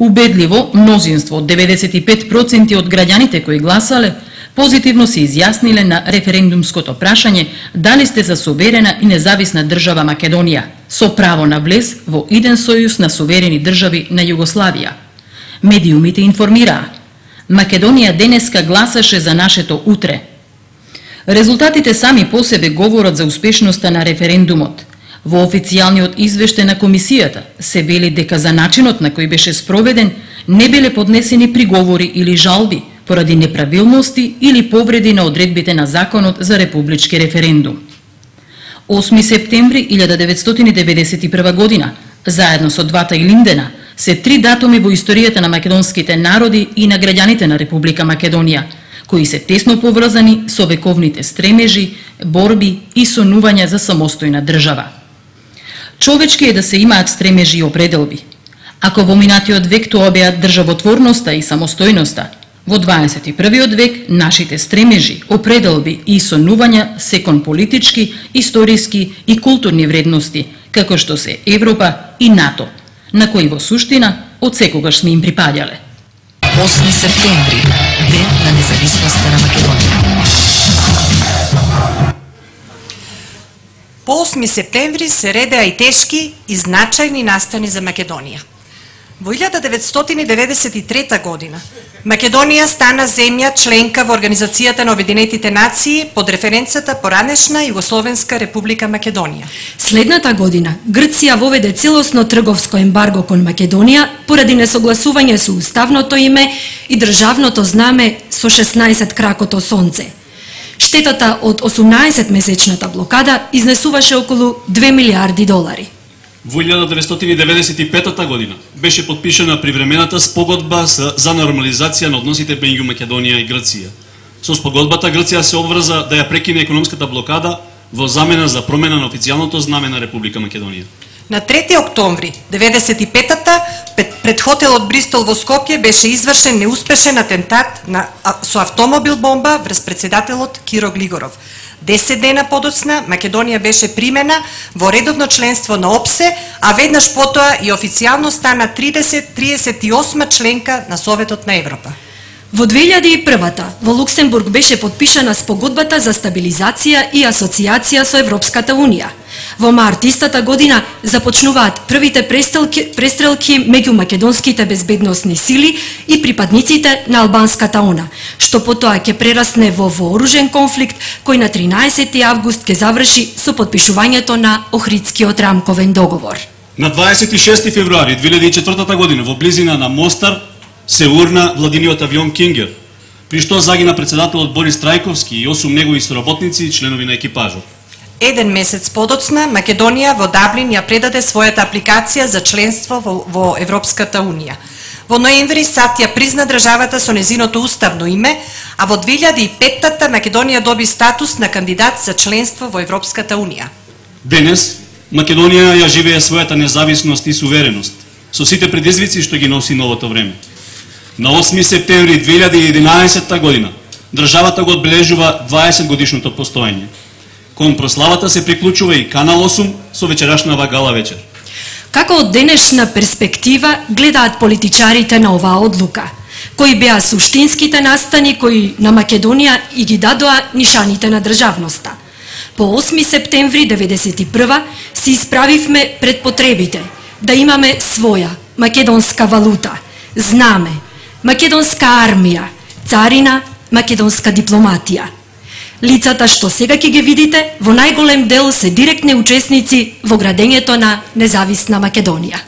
Убедливо, мнозинство од 95% од граѓаните кои гласале, позитивно се изјасниле на референдумското прашање дали сте за суверена и независна држава Македонија, со право на влез во иден сојуз на суверени држави на Југославија. Медиумите информираа. Македонија денеска гласаше за нашето утре. Резултатите сами по себе говорат за успешноста на референдумот. Во официјалниот извештај на комисијата се вели дека за начинот на кој беше спроведен не биле поднесени приговори или жалби поради неправилности или повреди на одредбите на Законот за републички референдум. 8 септември 1991 година, заедно со двата Илиндена, се 3 датуми во историјата на македонските народи и на граѓаните на Република Македонија, кои се тесно поврзани со вековните стремежи, борби и сонувања за самостојна држава. Човечки е да се имаат стремежи и определби. Ако во минатиот век тоа беа државотворноста и самостојноста, во 21. век нашите стремежи, определби и сонувања се кон политички, историски и културни вредности, како што се Европа и НАТО, на кои во суштина од секогаш сме им припаѓале. 8 септември, ден на независноста на Македонија. По 8 септември се редеа и тешки и значајни настани за Македонија. Во 1993 година Македонија стана земја членка во Организацијата на Обединетите нации под референцата поранешна Југословенска република Македонија. Следната година Грција воведе целосно трговско ембарго кон Македонија поради несогласување со уставното име и државното знаме со 16 кракото сонце. Штетата од 18-месечната блокада изнесуваше околу 2 милиарди долари. Во 1995 година беше подпишана привремената спогодба за нормализација на односите меѓу Македонија и Грција. Со спогодбата Грција се обврза да ја прекине економската блокада во замена за промена на официјалното знаме на Република Македонија. На 3 октомври 95-та пред хотелот Бристол во Скопје беше извршен неуспешен атентат со автомобил бомба врз председателот Киро Глигоров. 10 дена подоцна Македонија беше примена во редовно членство на ОПСЕ, а веднаш потоа и официјално стана 38 членка на Советот на Европа. Во 2001-та во Луксембург беше подпишана спогодбата за стабилизација и асоциација со Европската Унија. Во март истата година започнуваат првите престрелки меѓу македонските безбедносни сили и припадниците на албанската ОНА, што потоа ќе прерасне во вооружен конфликт кој на 13 август ќе заврши со подпишувањето на Охридскиот рамковен договор. На 26 февруари 2004 година во близина на Мостар се урна владиниот авион Кингер, при што загина председателот Борис Трајковски и 8 негови соработници и членови на екипажот. Еден месец подоцна Македонија во Даблин ја предаде својата апликација за членство во Европската Унија. Во ноември САД ја призна државата со незиното уставно име, а во 2005-та Македонија доби статус на кандидат за членство во Европската Унија. Денес Македонија ја живее својата независност и сувереност, со сите предизвици што ги носи новото време. На 8 септември 2011 година државата го одбележува 20 годишното постоење. Кон прославата се приклучува и Канал 8 со вечерашнава гала вечер. Како од денешна перспектива гледаат политичарите на оваа одлука? Кои беа суштинските настани кои на Македонија и ги дадоа нишаните на државноста? По 8 септември 1991 се исправивме пред потребите да имаме своја македонска валута, знаме, македонска армија, царина, македонска дипломатија. Лицата што сега ќе ги видите, во најголем дел се директни учесници во градењето на независна Македонија.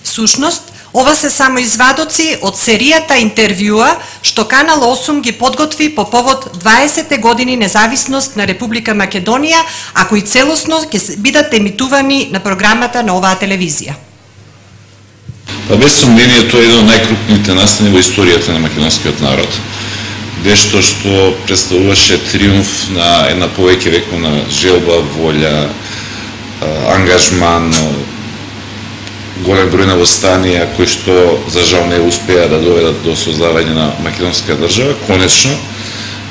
Всушност, ова се само извадоци од серијата интервјуа што Канал 8 ги подготви по повод 20 години независност на Република Македонија, а кои целосно ќе бидат емитувани на програмата на оваа телевизија. Па без сомнение тоа е едно од најкрупните настани во историјата на македонскиот народ. Нешто што представуваше триумф на една повеќе вековна желба, волја, ангажман, голем број на восстанија кои што за жал не успеа да доведат до создавање на македонска држава. Конечно,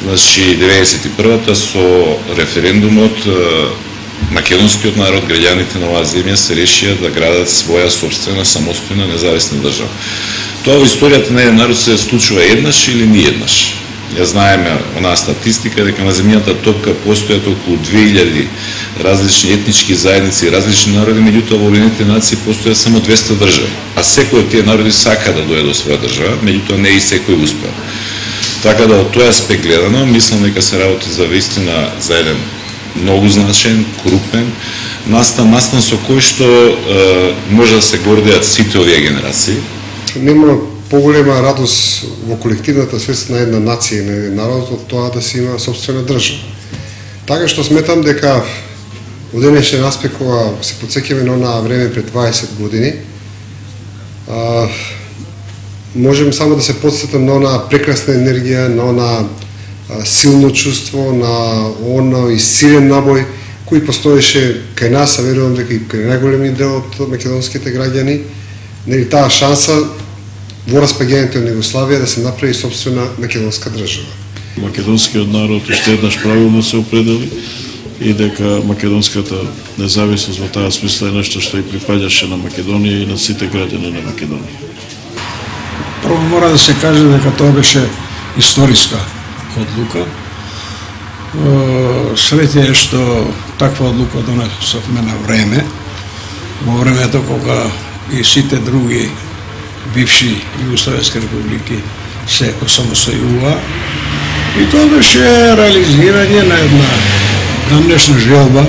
значи 91-та со референдумот македонскиот народ, граѓаните на оваа земја се решија да градат своја сопствена самостојна независна држава. Тоа во историјата на еден народ се случува еднаш или ни еднаш. Ја знаеме онаа статистика дека на земјата топка постојат околу 2000 различни етнички заедници и различни народи, меѓутоа во Обединетите нации постојат само 200 држави. А секој од тие народи сака да дојде до своја држава, меѓутоа не и секој успеа. Така да од тој аспект гледано, мислам дека се работи за вистина за еден многу значаен, крупен настан со кој што може да се гордеат сите овие генерации. Нема поголема радост во колективната свест на една нација и на еден народ од тоа да си има собствена држава. Така што сметам дека во денешен аспект кога се потсеќаме на онаа време пред 20 години, можем само да се потсетам на онаа прекрасна енергија, на онаа силно чувство, на оној силен набој кој постоеше кај нас, а верувам дека и кај најголемиот дел од македонските граѓани, нели таа шанса во распаѓањето на Југославија да се направи собствена македонска држава. Македонскиот народ уште еднаш правилно се определи и дека македонската независност во таа смисла е нешто што и припаѓаше на Македонија и на сите граѓани на Македонија. Прво мора да се каже дека тоа беше историска одлука. Среќа е што таква одлука донесовме на време, во времето кога и сите други бивши југословенски републики се осамостојува. И тоа беше реализирање на една дамнешна желба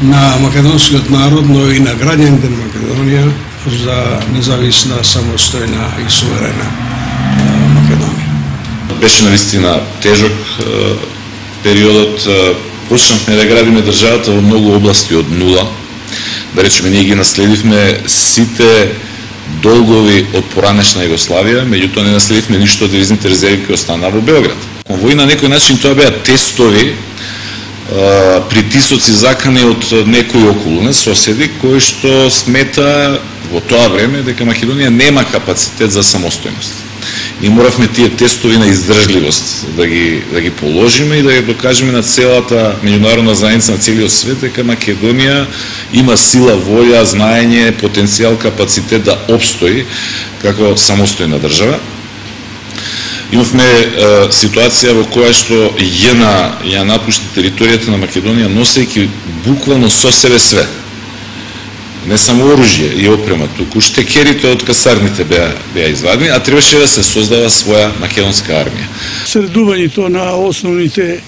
на македонскиот народ, но и на граѓаните на Македонија за независна, самостојна и суверена Македонија. Беше навистина тежок периодот. Почнавме да градиме државата во многу области од нула. Да речеме, ние ги наследивме сите долгови од поранешна Југославија, меѓутоа не наследивме ништо од девизните резерви кои останаа во Белград. Во на некој начин тоа беа тестови, притисоци закани од некои околу соседи кои што смета во тоа време дека Македонија нема капацитет за самостојност. И моравме тие тестови на издржливост да ги положиме и да ја докажеме на целата меѓународна заедница, на целиот свет, дека Македонија има сила, волја, знаење, потенцијал, капацитет да опстои како самостојна држава. Имавме ситуација во која што ЈНА ја напушти територијата на Македонија носејќи буквално со себе све. Не само оружје и опрема, туку штекерите од касарните беа извадени, а требаше да се создава своја македонска армија. Средувањето на основните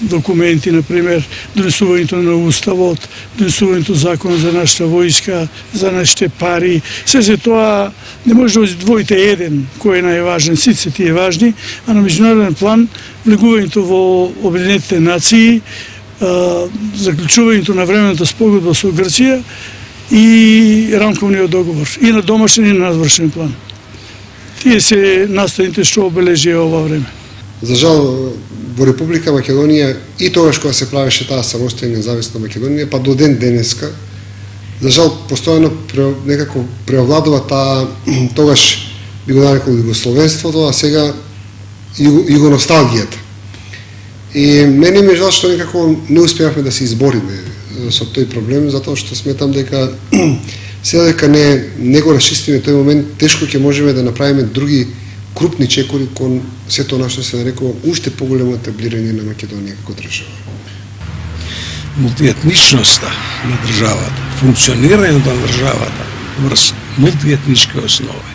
документи, например, донесувањето на уставот, донесувањето закон за нашата војска, за нашите пари, се тоа не може да одвоите еден кој е најважен, сите тие важни, а на меѓународен план влегувањето во Обединетите нации, заклучувањето на времената спогодба со Грција и рамковниот договор, и на домашен и на надворешен план. Тие се настаните што обележија ова време. За жал, во Република Македонија и тогаш кога се правеше таа самостојна независна Македонија, па до ден денеска, за жал, постојано некако преовладува таа, тогаш би го нарекол југословенството, а сега југоносталгијата. И мене ми е жал што некако не успеавме да се избориме со тој проблем, затоа што сметам дека сега дека не го расчистиме тој момент, тешко ќе можеме да направиме други крупни чекори кон сето она што се нарекува уште поголемо етаблирање на Македонија како држава. Мултиетничноста на државата, функционирањето на државата врз мултиетнички основи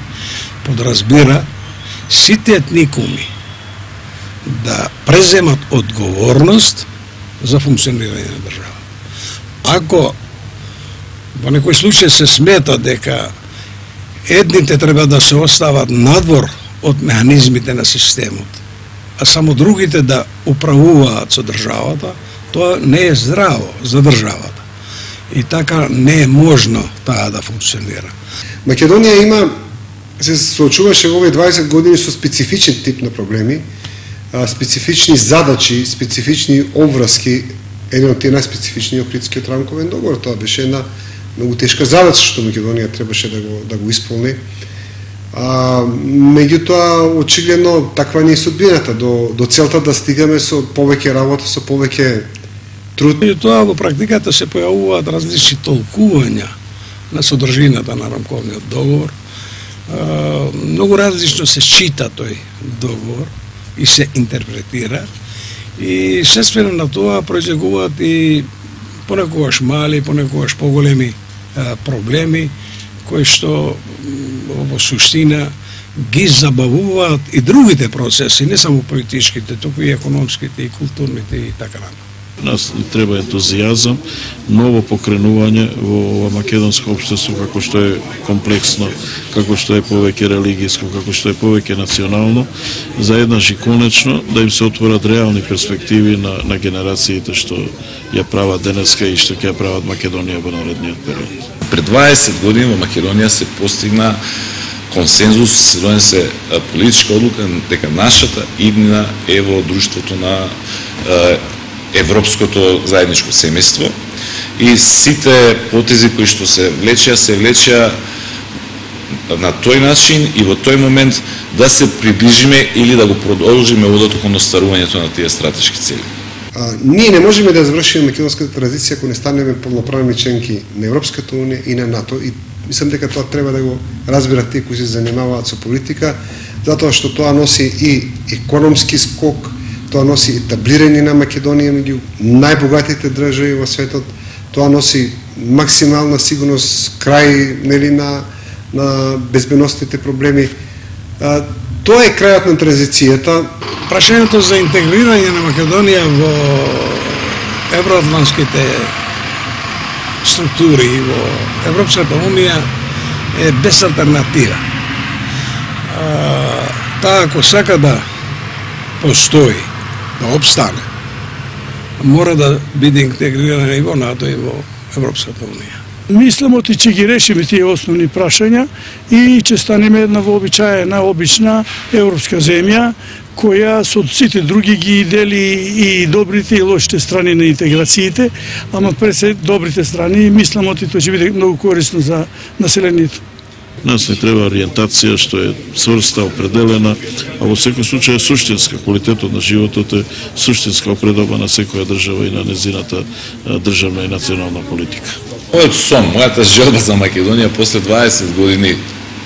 подразбира сите етникуми да преземат одговорност за функционирање на држава. Ако во некој случај се смета дека едните треба да се остават надвор од механизмите на системот, а само другите да управуваат со државата, тоа не е здраво за државата. И така не е можно таа да функционира. Македонија се соочуваше во овие 20 години со специфичен тип на проблеми, специфични задачи, специфични обврски. Еден од тие најспецифични Охридскиот рамковен договор. Тоа беше една многу тешка задача што Македонија требаше да го исполни. Меѓутоа, очигледно, таква не е судбината, до целта да стигаме со повеќе работа, со повеќе труд. И тоа во практиката се појавуваат различни толкувања на содржината на рамковниот договор, Многу различно се чита тој договор и се интерпретира и следствено на тоа произлегуваат и понекогаш мали, понекогаш поголеми проблеми кои што во суштина ги забавуваат и другите процеси, не само политичките, туку и економските, и културните и така натаму. Нас ни треба ентузијазам, ново покренување во македонско општество како што е комплексно, како што е повеќе религијско, како што е повеќе национално, заеднаш и конечно да им се отворат реални перспективи на генерациите што ја прават денеска и што ќе ја прават Македонија во наредниот период. Пред 20 години во Македонија се постигна консензус, се донесе политичка одлука дека нашата иднина е во друштвото на европското заедничко семејство и сите потези кои што се влечеа на тој начин и во тој момент да се приближиме или да го продолжиме одот кон остарувањето на тие стратешки цели. Ние не можеме да завршиме македонската транзиција ако не станеме полноправни членки на Европската унија и на НАТО и мислам дека тоа треба да го разберат тие кои се занимаваат со политика, затоа што тоа носи и економски скок, тоа носи етаблирање на Македонија меѓу најбогатите држави во светот, тоа носи максимална сигурност крај на безбедносните проблеми. Тоа е крајот на транзицијата. Прашањето за интегрирање на Македонија во евроатлантските структури и во Европската унија е без алтернатива. Таа ако сака да постои, да обстане, мора да биде интегрирана и во НАТО и во Европската унија. Мислам оти че ги решиме тие основни прашања и че станеме една вообичаена, обична европска земја, која со сите други ги дели и добрите и лошите страни на интеграциите, ама пред се добрите страни и мислам оти тоа ќе биде многу корисно за населението. Нас не треба ориентација што е цврста, определена, а во секој случај е суштинска. Квалитетот на животот е суштинска опредоба на секоја држава и на незината државна и национална политика. Мојот сон, мојата желба за Македонија после 20 години,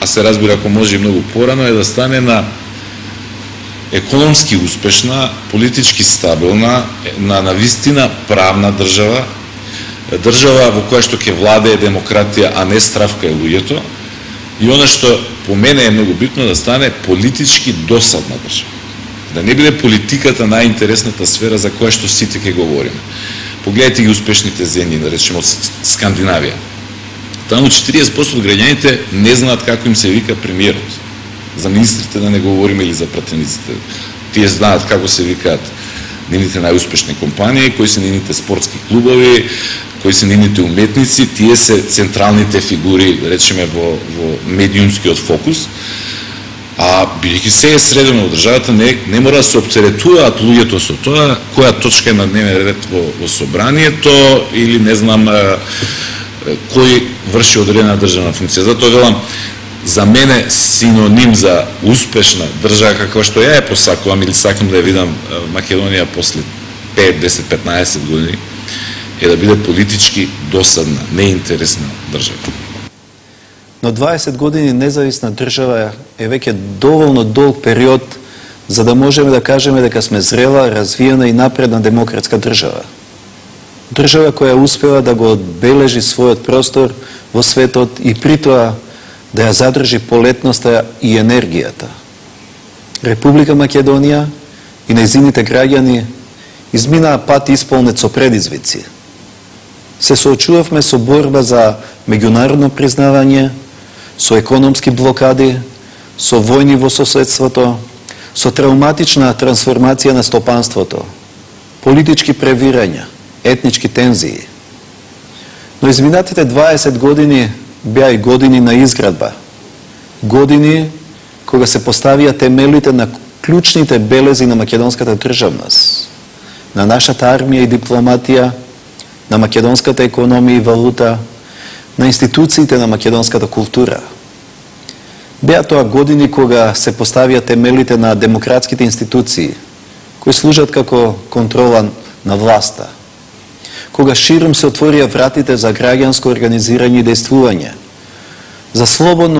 а се разбира ако може и многу порано, е да стане на економски успешна, политички стабилна, на вистина правна држава, држава во која што ќе владее демократија, а не стравка е луѓето, и она што по мене е многу битно да стане политички досадна држава. Да не биде политиката најинтересната сфера за која што сите ќе говориме. Погледайте ги успешните земји, да речеме од Скандинавија. Таму 40% од граѓаните не знаат како им се вика премиерот. За министрите да не говориме или за пратениците. Тие знаат како се викаат нивните најуспешни компании, кои се нивните спортски клубови, кои се нивните уметници, тие се централните фигури, да речеме, во медиумскиот фокус. А бидејќи се е средено во државата, не мора да се оптеретуваат луѓето со тоа, која точка е на дневен ред во собранието или не знам кој врши одредена државна функција. Затоа велам, за мене синоним за успешна држава каква што ја посакувам или сакам да ја видам Македонија после 5, 10, 15 години е да биде политички досадна, неинтересна држава. Но 20 години независна држава е веќе доволно долг период за да можеме да кажеме дека сме зрела, развиена и напредна демократска држава. Држава која успева да го одбележи својот простор во светот и при тоа да ја задржи полетноста и енергијата. Република Македонија и нејзините граѓани изминаа пат исполнет со предизвици. Се соочувавме со борба за меѓународно признавање, со економски блокади, со војни во соседството, со травматична трансформација на стопанството, политички превирања, етнички тензии. Но изминатите 20 години беа и години на изградба. Години кога се поставија темелите на клучните белези на македонската државност, на нашата армија и дипломатија, на македонската економија и валута, на институциите на македонската култура. Беа тоа години кога се поставија темелите на демократските институции, кои служат како контрола на власта. Кога широм се отворија вратите за граѓанско организирање и дејствување, за слободно